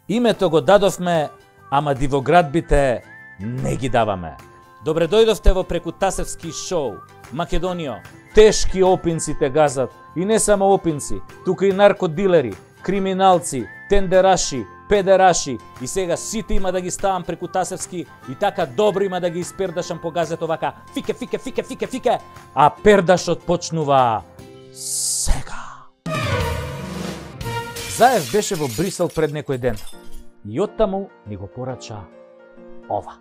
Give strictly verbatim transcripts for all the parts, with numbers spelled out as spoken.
Името го дадовме, ама дивоградбите не ги даваме. Добре дојдовте во Прекутасевски шоу. Македонијо, тешки опинци те газат. И не само опинци, тука и наркодилери, криминалци, тендераши, педераши. И сега сите има да ги ставам Прекутасевски и така добро има да ги испердашам по газето вака. Фике, фике, фике, фике, фике. А пердашот почнува сега. Заев беше во Брисел пред некој ден. И оттаму ни го порача ова.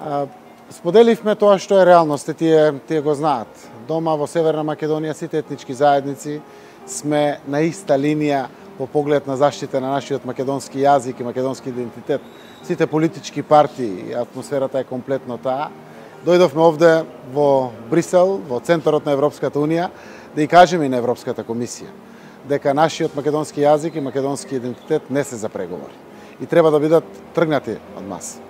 А, споделивме тоа што е реалност, тие, тие го знаат. Дома во Северна Македонија сите етнички заедници сме на иста линија по поглед на заштита на нашиот македонски јазик и македонски идентитет. Сите политички партии, атмосферата е комплетно таа. Дојдовме овде во Брисел, во центарот на Европската Унија, да и кажеме и на Европската комисија дека нашиот македонски јазик и македонски идентитет не се за преговори и треба да бидат тргнати од маса.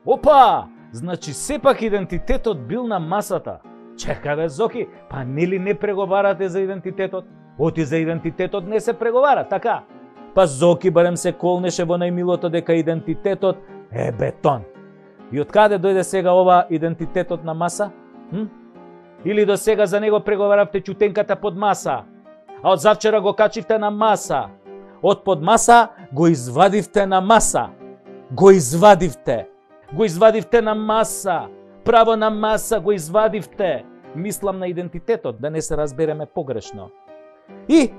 Опа! Значи сепак идентитетот бил на масата. Чекај бе, Зоки, па нели не преговарате за идентитетот? Оти за идентитетот не се преговара, така? Па Зоки барем се колнеше во најмилото дека идентитетот е бетон. И од каде дојде сега ова идентитетот на маса? Hm? Или до сега за него преговаравте чутенката под маса, а од завчера го качивте на маса. Од под маса го извадивте на маса. Го извадивте. Го извадивте на маса. Право на маса го извадивте. Мислам на идентитетот, да не се разбереме погрешно. И,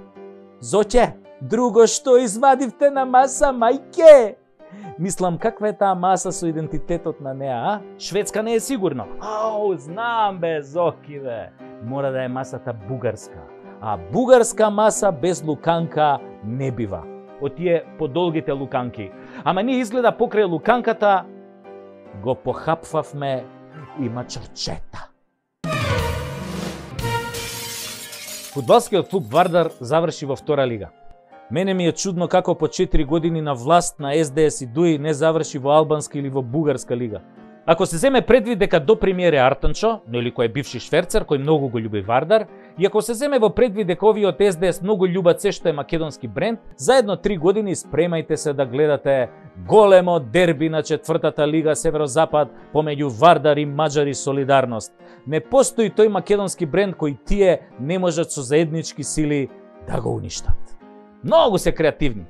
Зоче, друго што извадивте на маса, мајке? Мислам, каква е таа маса со идентитетот на неа, а? Шведска не е сигурно. Ау, знам бе, Зоки бе. Мора да е масата бугарска. А бугарска маса без луканка не бива. Од тие подолгите луканки. Ама ние изгледа покрај луканката го похапвавме и мачарчета. Фудбалскиот клуб Вардар заврши во втора лига. Мене ми е чудно како по четири години на власт на Ес Де Ес и Дуи не заврши во албанска или во бугарска лига. Ако се земе предвид дека до премиер е Артанчо, нели кој е бивши шверцер, кој многу го љуби Вардар, и ако се земе во предвид дека овие од Ес Де Ес многу љубат се што е македонски бренд, заедно три години спремајте се да гледате големо дерби на четвртата лига Северозапад помеѓу Вардар и Маџари Солидарност. Не постои тој македонски бренд кој тие не можат со заеднички сили да го уништат. Многу се креативни.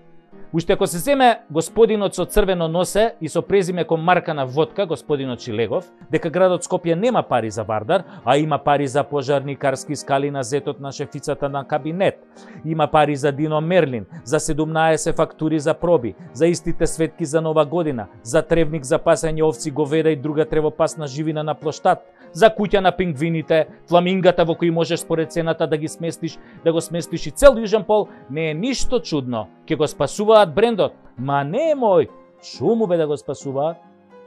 Уште ако се земе господинот со црвено носе и со презиме кон марка на водка, господинот Чилегов, дека градот Скопје нема пари за Вардар, а има пари за пожарникарски скали на зетот на шефицата на кабинет. Има пари за Дино Мерлин, за седумнаесет фактури за проби, за истите светки за Нова година, за тревник за пасање овци, говеда и друга тревопасна живина на плоштад, за куќа на пингвините, фламингата во кои можеш според цената да ги сместиш, да го сместиш и цел Јужен пол, не е ништо чудно. Ке го спасуваат брендот. Ма не е мој. Шуму бе да го спасуваат.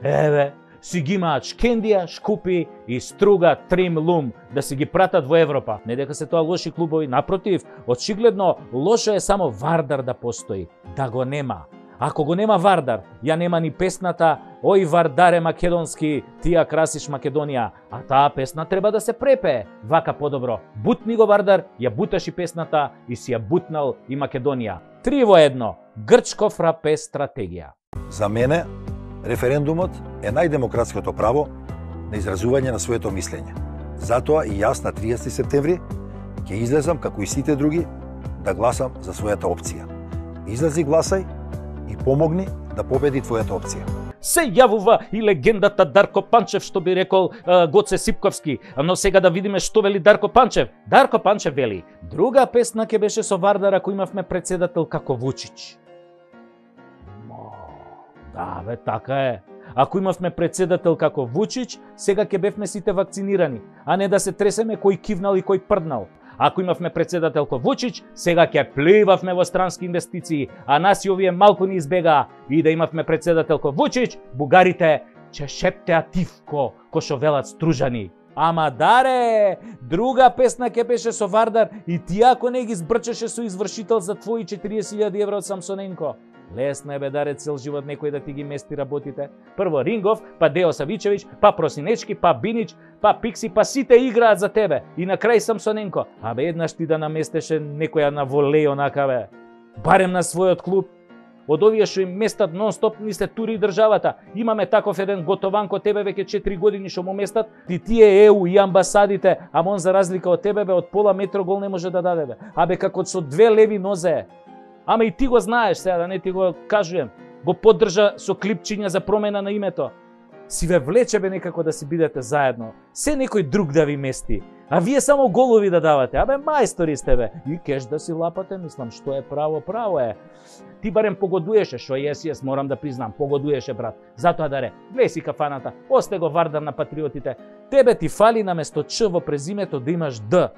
Еве, си ги имаат Шкендија, Шкупи и Струга, Трим, Лум, да си ги пратат во Европа. Не дека се тоа лоши клубови, напротив, очигледно лошо е само Вардар да постои, да го нема. Ако го нема Вардар, ја нема ни песната "Ој Вардаре македонски, ти ја красиш Македонија", а таа песна треба да се препее. Вака подобро. Бутни го Вардар, ја буташ и песната и си ја бутнал и Македонија. Три во едно. Грчков рапе стратегија. За мене, референдумот е најдемократското право на изразување на своето мислење. Затоа и јас на триесети септември ќе излезам, како и сите други, да гласам за својата опција. Излези, гласај и помогни да победи твојата опција. Се јавува и легендата Дарко Панчев, што би рекол uh, Гоце Сипковски. Но сега да видиме што вели Дарко Панчев. Дарко Панчев вели: друга песна ќе беше со Вардар ако имавме председател како Вучич. Мо, да бе, така е. Ако имавме председател како Вучич, сега ќе бевме сите вакцинирани, а не да се тресеме кој кивнал и кој прднал. Ако имавме председател ко Вучич, сега ќе пливавме во странски инвестиции, а нас и овие малку ни избегаа. И да имавме председател ко Вучич, бугарите ќе шептеа тивко, ко шо велат Стружани. Ама даре, друга песна ќе беше со Вардар и ти ако не ги збрчеше со извршител за твои четириесет илјади евра од Самсоненко. Лесно е бе даре цел живот некој да ти ги мести работите. Прво Рингов, па Део Савичевич, па Просинечки, па Бинич, па Пикси, па сите играат за тебе. И на крај Самсоненко. Абе еднаш ти да наместеше некоја на волеј онака бе. Барем на својот клуб. од овие што им местат нон-стоп, ни се тури државата. Имаме таков еден готованко, тебе веќе четири години што му местат, и тие Е У и амбасадите, а он за разлика од тебе бе од пола метро гол не може да даде бе. Абе како со две леви нозе. Ама и ти го знаеш, сега да не ти го кажуjem. Го поддржа со клипчиња за промена на името. Си ве влече бе некако да си бидете заедно. Се некој друг да ви мести. А вие само голови да давате. Абе мајстори сте бе. И кеш да си лапате, мислам, што е право, право е. Ти барем погодуеше, шо јес, јес, морам да признам, погодуеше брат. Затоа даре, глеј си кафаната, осте го Вардар на патриотите. Тебе ти фали наместо Ч во презимето да имаш Д.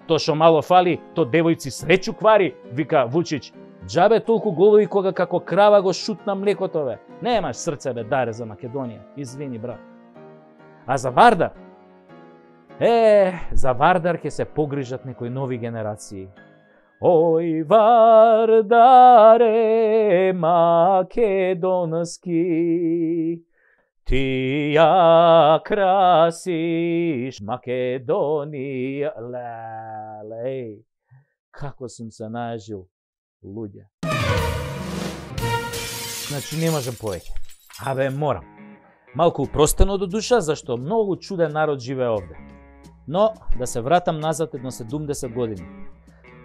То шо мало фали, то девојци среќу квари, вика Вучич. Джабе толку голови кога како крава го шутна млекото бе. Немаш срце бе, даре за Македонија. Извини брат. А за Вардар? Е, за Вардар ќе се погрижат некои нови генерации. Ој Вардаре македонски, ти ја красиш Македонија. Леле, како сум се најажил, луѓе. Значи не можам повеќе. Абе морам. Малку упростено до душа, зашто многу чуден народ живее овде. Но, да се вратам назад едно седумдесет години.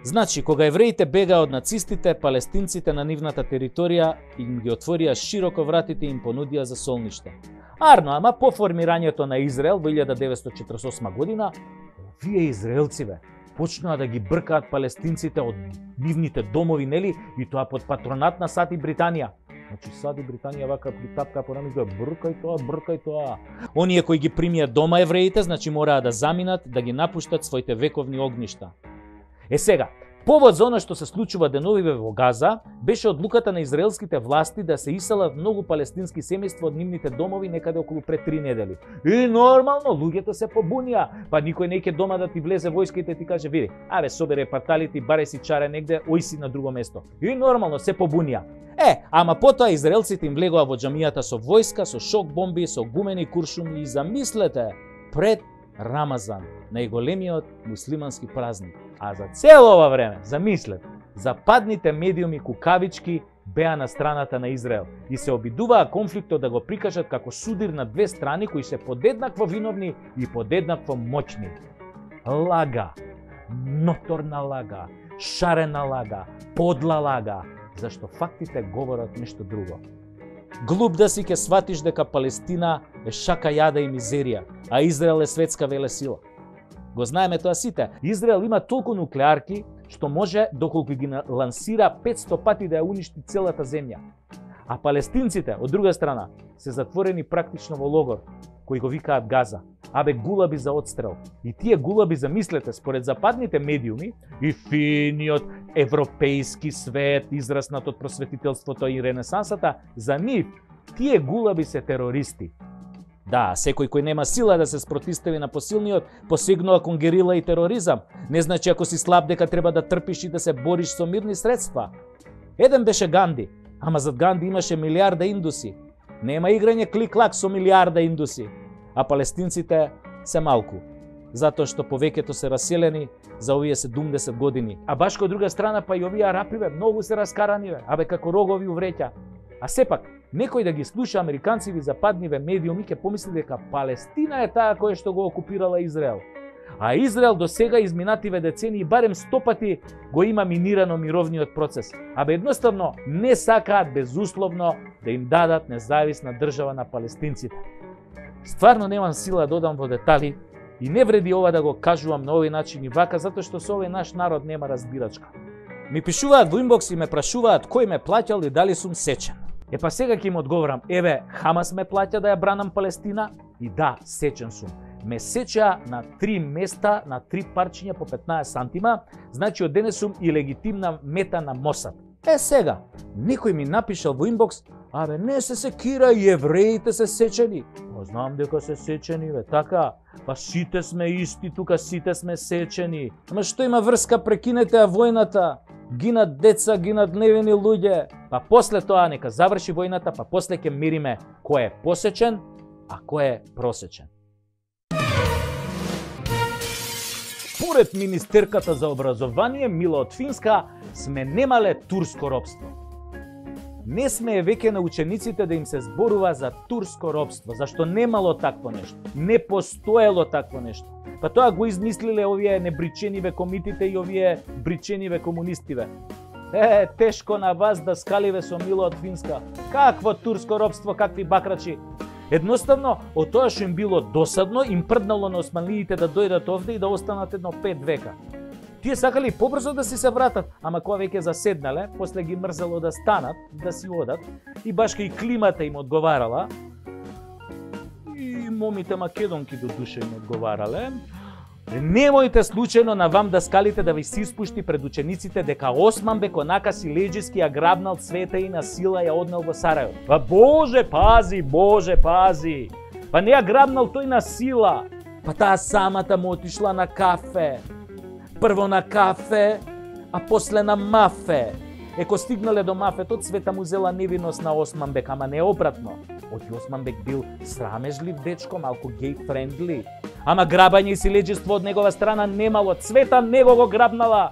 Значи, кога евреите бегаа од нацистите, палестинците на нивната територија им ги отворија широко вратите и им понудија за солниште. Арно, ама по формирањето на Израел во илјада деветстотини четиридесет и осма година, овие израелци бе, почнаа да ги бркаат палестинците од нивните домови, нели, и тоа под патронат на САД и Британија. Значи САД и Британија вака притапка по рамето, бркај тоа, бркај тоа. Оние кои ги примијат дома евреите, значи мораа да заминат, да ги напуштат своите вековни огништа. Е сега, повод за оно што се случува деновиве во Газа беше одлуката на израелските власти да се иселат многу палестински семејства од нивните домови некаде околу пред три недели. И нормално луѓето се побунија, па никој не ќе дома да ти влезе војска и да ти каже види, абе собере парталите и баре си чаре негде, ој си на друго место. И нормално се побунија. Е, ама потоа израелците им влегоа во џамијата со војска, со шок бомби, со гумени куршуми и замислете, пред Рамазан, најголемиот муслимански празник. А за цело ова време, замислете, западните медиуми кукавички беа на страната на Израел и се обидуваа конфликтот да го прикажат како судир на две страни кои се подеднакво виновни и подеднакво моćни. Лага, ноторна лага, шарена лага, подла лага, зашто фактите говорат нешто друго. Глуп да си ќе сватиш дека Палестина е шака јада и мизерија, а Израел е светска велесила. Го знаеме тоа сите. Израел има толку нуклеарки што може доколку ги лансира петсто пати да ја уништи целата земја. А палестинците, од друга страна, се затворени практично во логор, кој го викаат Газа. Абе гулаби за отстрел. И тие гулаби, замислете, според западните медиуми и финиот европејски свет, израснат од просветителството и ренесансата, за нив тие гулаби се терористи. Да, секој кој нема сила да се спротистави на посилниот, посегнува кон герила и тероризам. Не значи ако си слаб дека треба да трпиш и да се бориш со мирни средства. Еден беше Ганди, ама зад Ганди имаше милиарда индуси. Нема играње клик-клак со милиарда индуси. А палестинците се малку, затоа што повеќето се раселени за овие седумдесет години. А баш кај друга страна па и овие арапи бе, многу се раскарани бе, абе како рогови увреќа. А сепак, некој да ги слуша американци и западниве медиуми ќе помисли дека Палестина е таа која што го окупирала Израел. А Израел до сега изминативе децении барем сто пати го има минирано мировниот процес. Абе едноставно не сакаат безусловно да им дадат независна држава на палестинците. Стварно немам сила да додам во детали и не вреди ова да го кажувам на овој начин и вака, затоа што со овој наш народ нема разбирачка. Ми пишуваат во инбокс и ме прашуваат кој ме плаќал и дали сум сечен. Е па сега ќе им одговорам, еве, Хамас ме плаќа да ја бранам Палестина и да, сечен сум. Ме сеча на три места, на три парчиња по петнаесет сантима, значи од денес сум и легитимна мета на Мосад. Е сега, некој ми напишал во инбокс, абе не се секира и евреите се сечени. Па знам дека се сечени, бе, така, па сите сме исти, тука сите сме сечени. Ама што има врска, прекинете ја војната. Гинат деца, гинат невини луѓе. Па после тоа нека заврши војната, па после ќе мериме кој е посечен, а кој е просечен. Според министерката за образование Мила од Финска сме немале турско робство. не смее веќе на учениците да им се зборува за турско робство, зашто немало такво нешто, не постоело такво нешто. Па тоа го измислиле овие небричениве комитите и овие бричениве комунистиве. Е, тешко на вас да скаливе со Мило од Финска. Какво турско робство, какви бакрачи. Едноставно, од тоа што им било досадно, им прднало на османлиите да дојдат овде и да останат едно пет века. Тие сакали побрзо да си се вратат, ама кога веќе заседнале, после ги мрзело да станат, да си одат, и башка и климата им одговарала, и момите македонки до душа им одговарале, немојте случајно на вам да скалите да ви се испушти пред учениците дека Османбек онака си леđиски ја грабнал цвета и на сила ја однел во Сарајево. Па Боже пази, Боже пази! Па не ја грабнал тој на сила, па таа самата му отишла на кафе. Прво на кафе, а после на мафе. Еко стигнале до мафето, цвета му зела невиност на Османбек, ама не обратно. Оти Османбек бил срамежлив дечко, малку гей-френдли. Ама грабање и силеđиство од негова страна немало, цвета него го грабнала.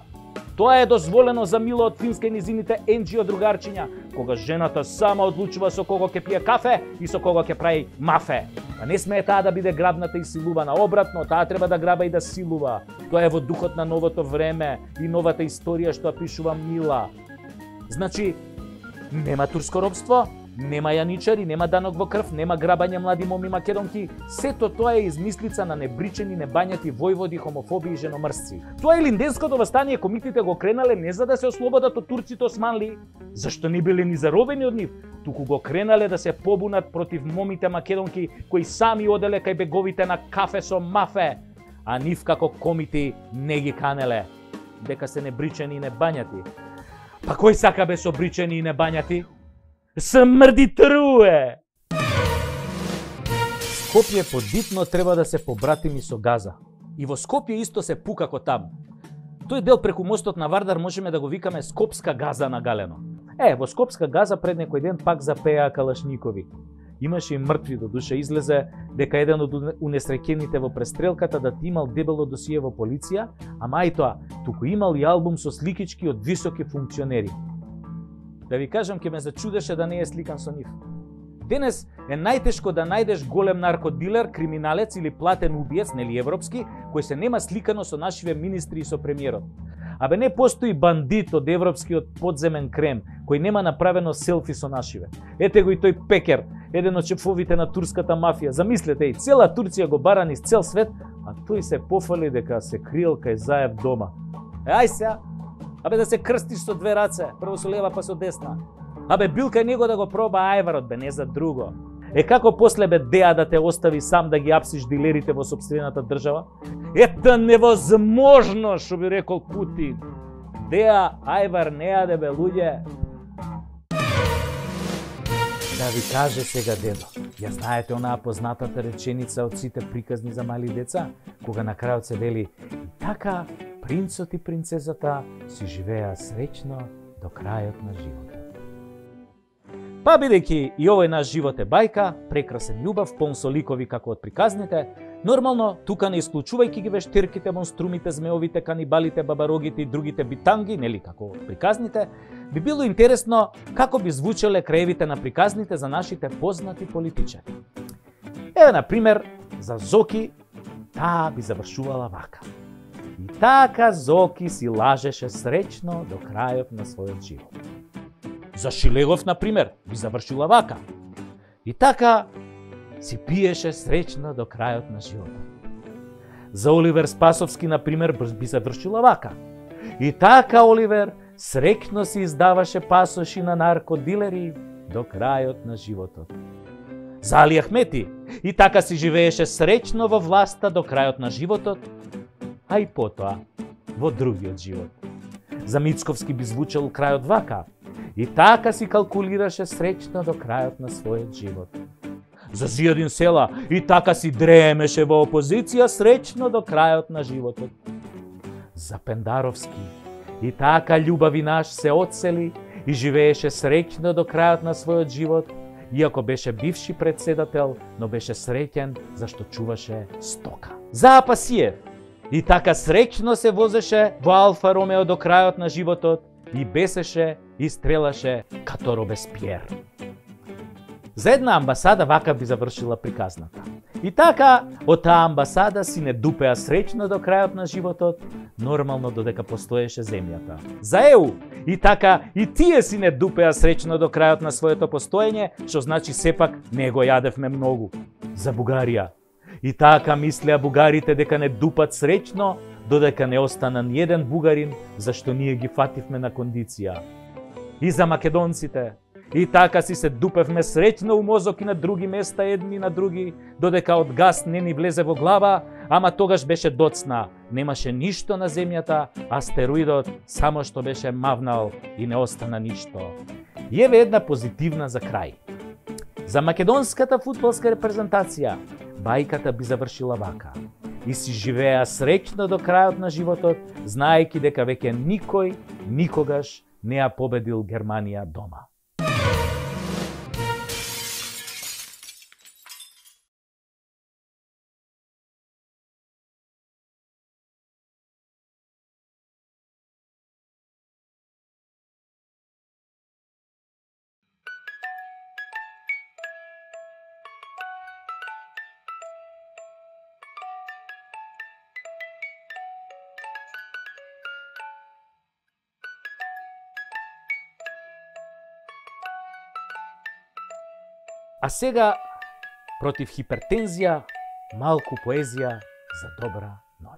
Тоа е дозволено за Мило од Финска и низините енџио другарчиња, кога жената сама одлучува со кого ќе пие кафе и со кого ќе прави мафе. А не смее таа да биде грабната и силувана, обратно, таа треба да граба и да силува. Тоа е во духот на новото време и новата историја што пишува Мила. Значи, нема турско робство, нема јаничари, нема данок во крв, нема грабање млади моми македонки. Сето тоа е измислица на небричени, небањати војводи, хомофоби и женомрсци. Тоа е Илинденското востание, комитите го кренале не за да се ослободат од турците османли, зашто не биле ни заробени од нив, туку го кренале да се побунат против момите македонки кои сами оделе кај беговите на кафе со мафе, а нив како комити не ги канеле, дека се небричени и небањати. Па кој сака бе со бричени и небањати? Смрди труе! Скопје подитно треба да се побратими со Газа. И во Скопје исто се пука ко таму. Тој дел преку мостот на Вардар можеме да го викаме Скопска Газа на галено. Е, во Скопска Газа пред некој ден пак запеа калашникови. Имаше и мртви, до душа излезе дека еден од унесреќените во престрелката да ти имал дебело досие во полиција, ама и тоа, туку имал и албум со сликички од високи функционери. Да ви кажам, ке ме зачудеше да не е сликан со нив. Денес е најтешко да најдеш голем наркодилер, криминалец или платен убиец, нели европски, кој се нема сликано со нашиве министри и со премиерот. Абе не постои бандит од европскиот подземен крем, кој нема направено селфи со нашиве. Ете го и тој Пекер, еден од шефовите на турската мафија. Замислете, и цела Турција го бара низ цел свет, а тој се пофали дека се криел кај Заев дома. Е, ај сега, абе да се крстиш со две раце, прво со лева па со десна. Абе бил кај него да го проба ајварот, бе не за друго. Е како после бе Деа да те остави сам да ги апсиш дилерите во собствената држава? Ета невозможно, што би рекол Путин. Деа ајвар не јаде бе луѓе. Да ви каже сега дедо, ја знаете онаа познатата реченица од сите приказни за мали деца, кога на крајот се вели и така принцот и принцезата си живеа среќно до крајот на животот. Па бидејќи и овој наш живот е бајка, прекрасен љубав, полн со ликови како од приказните, нормално, тука не исклучувајќи ги вештерките, монструмите, змеовите, канибалите, бабарогите и другите битанги, нели како од приказните, би било интересно како би звучеле краевите на приказните за нашите познати политичари. Еве, на пример, за Зоки, таа би завршувала вака. И така Зоки си лажеше среќно до крајот на својот живот. За Шилегов, на пример, би завршила вака. И така си пиеше среќно до крајот на животот. За Оливер Спасовски, на пример, би завршила вака. И така Оливер среќно си издаваше пасоши на наркодилери до крајот на животот. За Али Ахмети, и така си живееше среќно во власта до крајот на животот, а и потоа во другиот живот. За Мицковски би звучал крајот вака. И така си калкулираше среќно до крајот на својот живот. За Зијадин Села, и така си дремеше во опозиција среќно до крајот на животот. За Пендаровски, и така љубави наш се одсели и живееше среќно до крајот на својот живот, иако беше бивши председател, но беше среќен зашто чуваше стока. За Апасиев, и така среќно се возеше во Алфа Ромео до крајот на животот и бесеше и стрелаше като Робеспиер. За една амбасада вака би завршила приказната. И така, од таа амбасада си не дупеа среќно до крајот на животот, нормално додека постоеше земјата. За Е У, и така, и тие си не дупеа среќно до крајот на своето постоење, што значи сепак не го јадевме многу. За Бугарија. И така мислеа бугарите дека не дупат среќно, додека не остана ниеден бугарин, зашто ние ги фативме на кондиција. И за македонците. И така си се дупевме среќно у мозок и на други места едни на други, додека од газ не ни влезе во глава, ама тогаш беше доцна, немаше ништо на земјата, астероидот само што беше мавнал и не остана ништо. И еве една позитивна за крај. За македонската фудбалска репрезентација, бајката би завршила вака. И си живеа среќно до крајот на животот, знаејќи дека веќе никој, никогаш не ја победил Германија дома. А сега, против хипертензија, малку поезија за добра ноќ.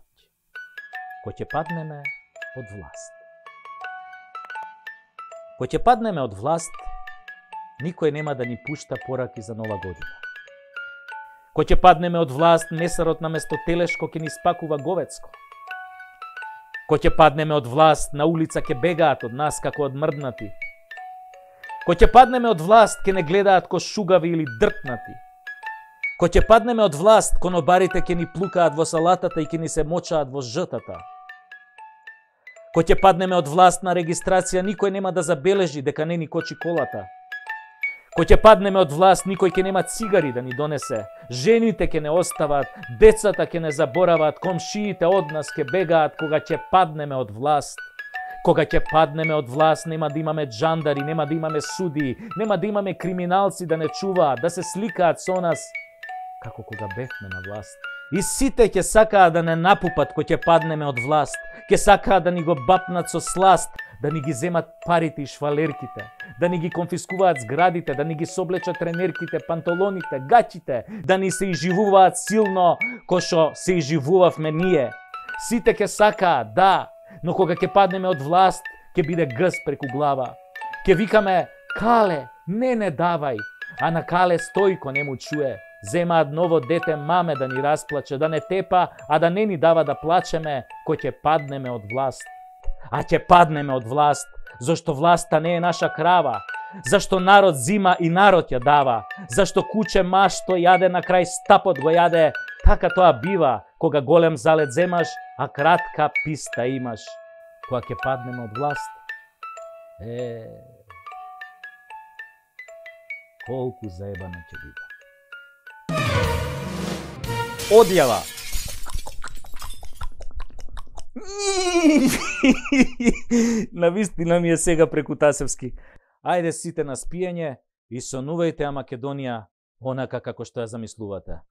Кој ќе паднеме од власт. Кој ќе паднеме од власт, никој нема да ни пушта пораки за нова година. Кој ќе паднеме од власт, месарот на место телешко ќе ни спакува говецко. Кој ќе паднеме од власт, на улица ќе бегаат од нас како од мрднати. Кој ќе паднеме од власт, ќе не гледаат ко шугави или дртнати. Кој ќе паднеме од власт, конобарите ќе ни плукаат во салатата и ќе ни се мочаат во жътата. Кој ќе паднеме од власт на регистрација, никој нема да забележи дека не ни кочи колата. Кој ќе паднеме од власт, никој ќе нема цигари да ни донесе. Жените ќе не остават, децата ќе не заборават, комшиите од нас ќе бегаат кога ќе паднеме од власт. Кога ќе паднеме од власт, нема да имаме джандари, нема да имаме суди, нема да имаме криминалци да не чуваат, да се сликаат со нас, како кога бевме на власт. И сите ќе сакаат да не напупат кој ќе паднеме од власт, ќе сакаат да ни го бапнат со сласт, да ни ги земат парите и швалерките, да ни ги конфискуваат зградите, да ни ги соблечат тренерките, панталоните, гачите, да ни се изживуваат силно, кој што се изживувавме ние. Сите ќе сакаат, да, но кога ќе паднеме од власт, ќе биде гъс преку глава. Ќе викаме, Кале, не не давај, а на Кале Стојко не му чуе. Земаат ново дете маме да ни расплаче, да не тепа, а да не ни дава да плачеме, кој ќе паднеме од власт. А ќе паднеме од власт, зашто власта не е наша крава, зашто народ зима и народ ја дава, зашто куче машто јаде на крај стапот го јаде, така тоа бива, кога голем залет земаш, а кратка писта имаш. Кога ќе паднеме од власт, е, колку заебано ќе биде. Одјава. Навистина ми е сега преку Тасевски. Ајде сите на спиење и сонувајте ја Македонија онака како што ја замислувате.